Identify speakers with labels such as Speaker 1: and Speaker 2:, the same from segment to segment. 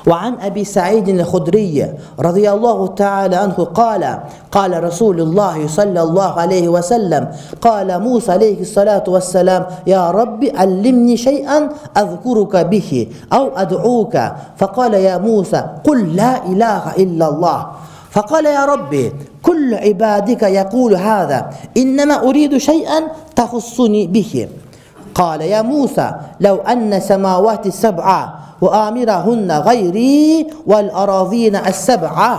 Speaker 1: وعن أبي سعيد الخدري رضي الله تعالى عنه قال قال رسول الله صلى الله عليه وسلم قال موسى عليه الصلاة والسلام يا رب علمني شيئا أذكرك به أو أدعوك فقال يا موسى قل لا إله إلا الله فقال يا ربي كل عبادك يقول هذا إنما أريد شيئا تخصني به قال يا موسى لو أن سماوات السبعة وآمرهن غيري والأراضين السبعة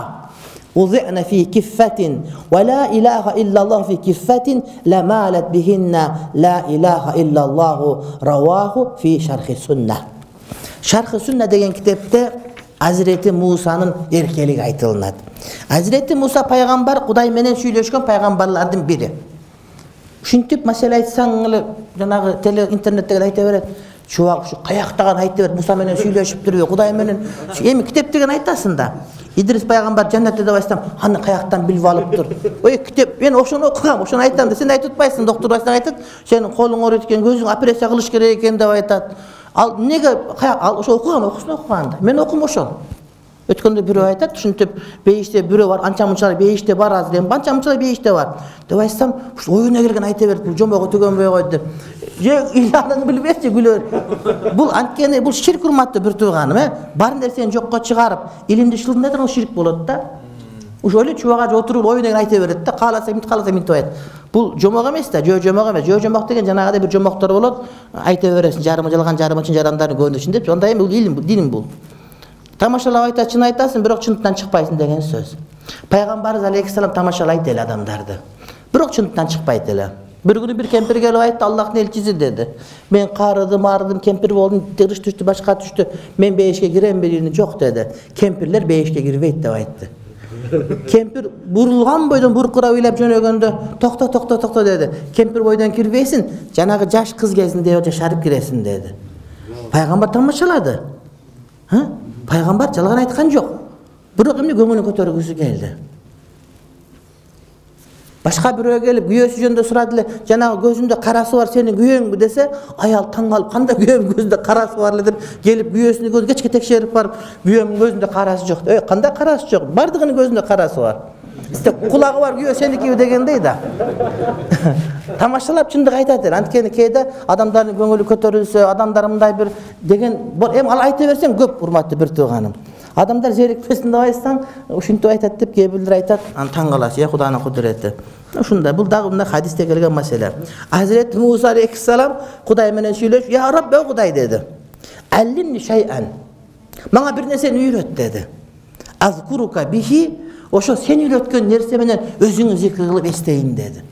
Speaker 1: وضعن في كفة ولا إله إلا الله في كفة لمالت بهن لا إله إلا الله رواه في شرح السنة. شرح السنة деген китепте Hazreti Musa'nын эркелиги айтылынат. Hazreti Musa пайгамбар Кудай менен сүйлөшкөн пайгамбарлардын бири. Ушинтип маселе айтсаң эле жанагы теле интернеттеги айта берет. Чувак ушу каяктаган айта берет, Муса менен сүйлөшүптүрбү, Кудай менен. Эми китеп деген айтасың да. Идрис пайгамбар жаннатта деп айтсам, аны каяктан билип алыптыр. Ой, китеп, мен ошону окугам, ошону айтам да, сен айтып атпайсың, доктор айтсаң айтат, сенин колуң ооруйт экен, көзүң операция кылыш керек экен деп айтат. Ал неге ал ошо окуган, окусун окуганда. Мен окум ошол. Өткөндө бирөө айтат, ушинтип бейиште бирөө бар, анча-мынча бейиште бар азыр, эми анча-мынча бейиште бар. Деп айтсам, ушу оюна келген айта берет, бул жомого төгөнбөй койду деп. Же иланын билбеши күлөр. Бул анткени бул ширк урматтуу бир тууганым, бар нерсени жокко чыгарып, илимди шылдырып турган ширк болот да. Ошо эле чубага отуруп оюна келген айта берет да, кааласа мынтип айт. Бул жомок эмес да, жомок эмес. Жомок деген жанагыдай бир жомоктор болот, айта бересиң, жарымы жалган, жарымы чын жарандардын көндүшүн деп. Ондай эми бул илим, бул дин бул. Тамашалап айтат, чын айтасың, бирок чындыктан чыкпайсың деген сөз. Пайгамбарыбыз алейхиссалам тамашалайт эле адамдарды. Бирок чындыктан чыкпайт эле. Bir günü bir kempir gelip aytты, Allah'ın elçisi dedi. Ben qarıdım, kempir oldum, tırış düştü, başka düştü. Men beşke girem birini çok dedi. Kempirler beşke girip de aytты. Kempir burulgan boydan burkura oylap jönөгөндө, tokta dedi. Kempir boydan kirбейсин, janagı jaş kız кезинде жашарып киреsin dedi. Пайгамбар тамашалады. Пайгамбар жалган айткан жок. Бирок эмне көңүлүн көтөргүсү келди. Башка бирөө келип күйөөсү жөнүндө сурады эле, жанагы көзүндө карасы бар сенин күйөөңбү десе, аял таң калып, кандай күйөөмүн көзүндө карасы бар эле деп, келип күйөөсүнүн көзүн кечке текшерип барып, күйөөмүн көзүндө карасы жок. Кандай карасы жок? Бардыгынын көзүндө карасы бар. Сизде кулагы бар күйөө сеникиби дегендей да. Тамашалап чындык айтат эле. Анткени кээде адамдардын көңүлү көтөрүлсө, адамдар мындай бир деген, эми ал айта берсең көп урматтуу бир тууганым. Адамдар зерикпесин деп айтсаң, ушинтип айтат деп кээ бирлер айтат, аны таң каласың, Кудайдын кудурети. Ушундай, бул дагы мындай хадисте келген маселе. Hazreti Musa алейхиссалам Кудай менен сүйлөшүп, "Я Рабби, о Кудай" деди. "Аллимни шай'ан." Мага бир нерсени үйрөт деди. "Азкурука бихи", ошо сен үйрөткөн нерсе менен өзүңү зикр кылып эстейин деди.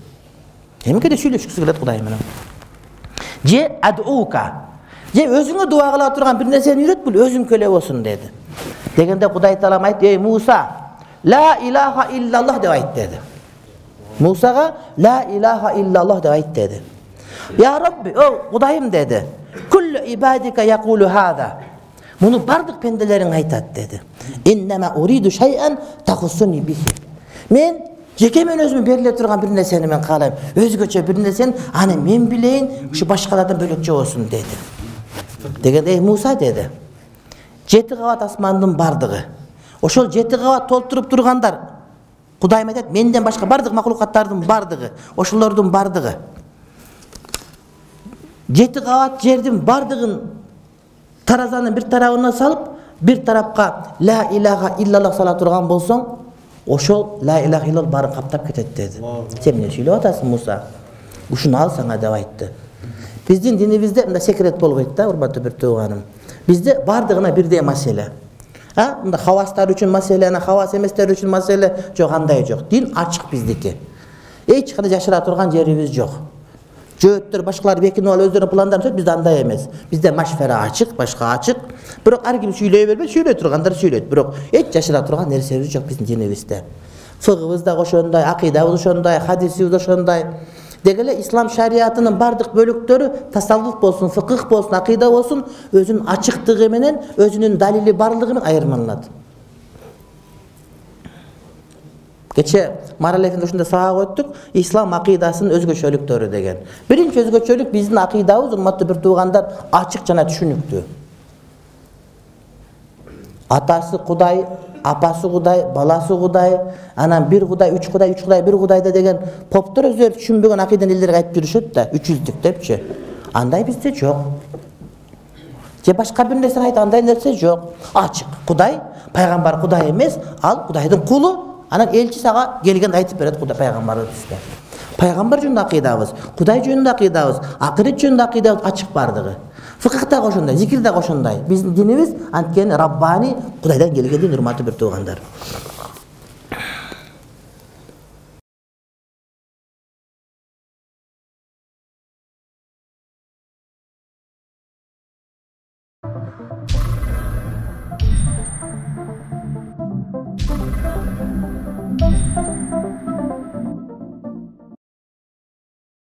Speaker 1: Эмнеге сүйлөшкүсү келет Кудай менен? "Же адуука", же өзүңө дуа кыла турган бир нерсени үйрөт, бул өзүңкө эле болсун деди. Дегенде Кудай Таалам айтты, "Ey Musa, la ilaha illallah" деп айт деди. Musa'ga la ilaha illallah деп айт деди. "Ya Rabbi, o Kudayım" dedi. "Kullu ibadika yaqulu hada." Bunu bardык pendeleriň aytat dedi. "Innema uridu shay'an tahussuni bihi." Men jeke men özüme berilе turgan bir nerseni men kalayım. Özgöçe bir nerseni ani men bileyin, şu başkalardan bölökçe olsun dedi. Degende "Ey Musa" dedi. 7 kavat asmandын бардыгы. Ошол 7 kavat толтуруп тургандар Кудайым айтат, менден башка бардык макулукаттардын бардыгы, ошолордун бардыгы. 7 кабат жердин бардыгын таразанын бир тарабына салып, бир тарапка ла илаха иллаллах сала турган болсоң, ошол ла илаха иллаллах барын каптап кетет деди. Сен эмне сүйлөп атасың, Муса? Ушуну ал сага деп айтты. Биздин динибизде мындай секрет болбойт да, урматтуу бир тууганым. Бизде бардыгына бирдей маселе. Мында хавастар үчүн маселе, хавас эместер үчүн маселе жок, андай жок. Дин ачык биздики. Эч кандай жашыра турган жерибиз жок. Жөөттөр башкалар бекинип алып өздөрүнүн пландарын түзөт, бизде андай эмес. Бизде машфера ачык, башка ачык. Бирок ар ким сүйлөй бербейт, сүйлөй тургандар сүйлөйт. Бирок эч жашыра турган нерсебиз жок биздин динибизде. Фыгыбыз да ошондой, акыйдабыз ошондой, хадисибиз ошондой. Деги эле ислам шариятынын бардык бөлүктөрү тасаввуф болсун, фыкых болсун, акыйда болсун өзүнүн ачыктыгы менен, өзүнүн далили барлыгы менен айырмаланат. Кече Марал эфенди ушундай сабак өттүк, ислам акыйдасынын өзгөчөлүктөрү деген. Биринчи өзгөчөлүк биздин акыйдабыз, урматтуу бир туугандар, ачык жана түшүнүктүү. Атасы Кудай, апасы Кудай, баласы Кудай, анан бир Кудай, үч Кудай, үч Кудай, бир Кудайда деген поптор өздөрү түшүнбөгөн акыйдан элдерге айтып жүрүшөт да, 300-дүк депчи. Андай бизде жок. Же башка бир нерсе айтат, андай нерсе жок. Ачык. Кудай, пайгамбар Кудай эмес, ал Кудайдын кулу. Анан элчи сага келгенде айтып берет Кудай пайгамбарыбыз бизде. Пайгамбар жөнүндө акыйдабыз, Кудай жөнүндө акыйдабыз, акырет жөнүндө акыйдабыз ачык бардыгы. Фыкых да ошондой, зикир да ошондой. Биздин динибиз анткени Раббани, Кудайдан келген дин, урматтуу бир туугандар.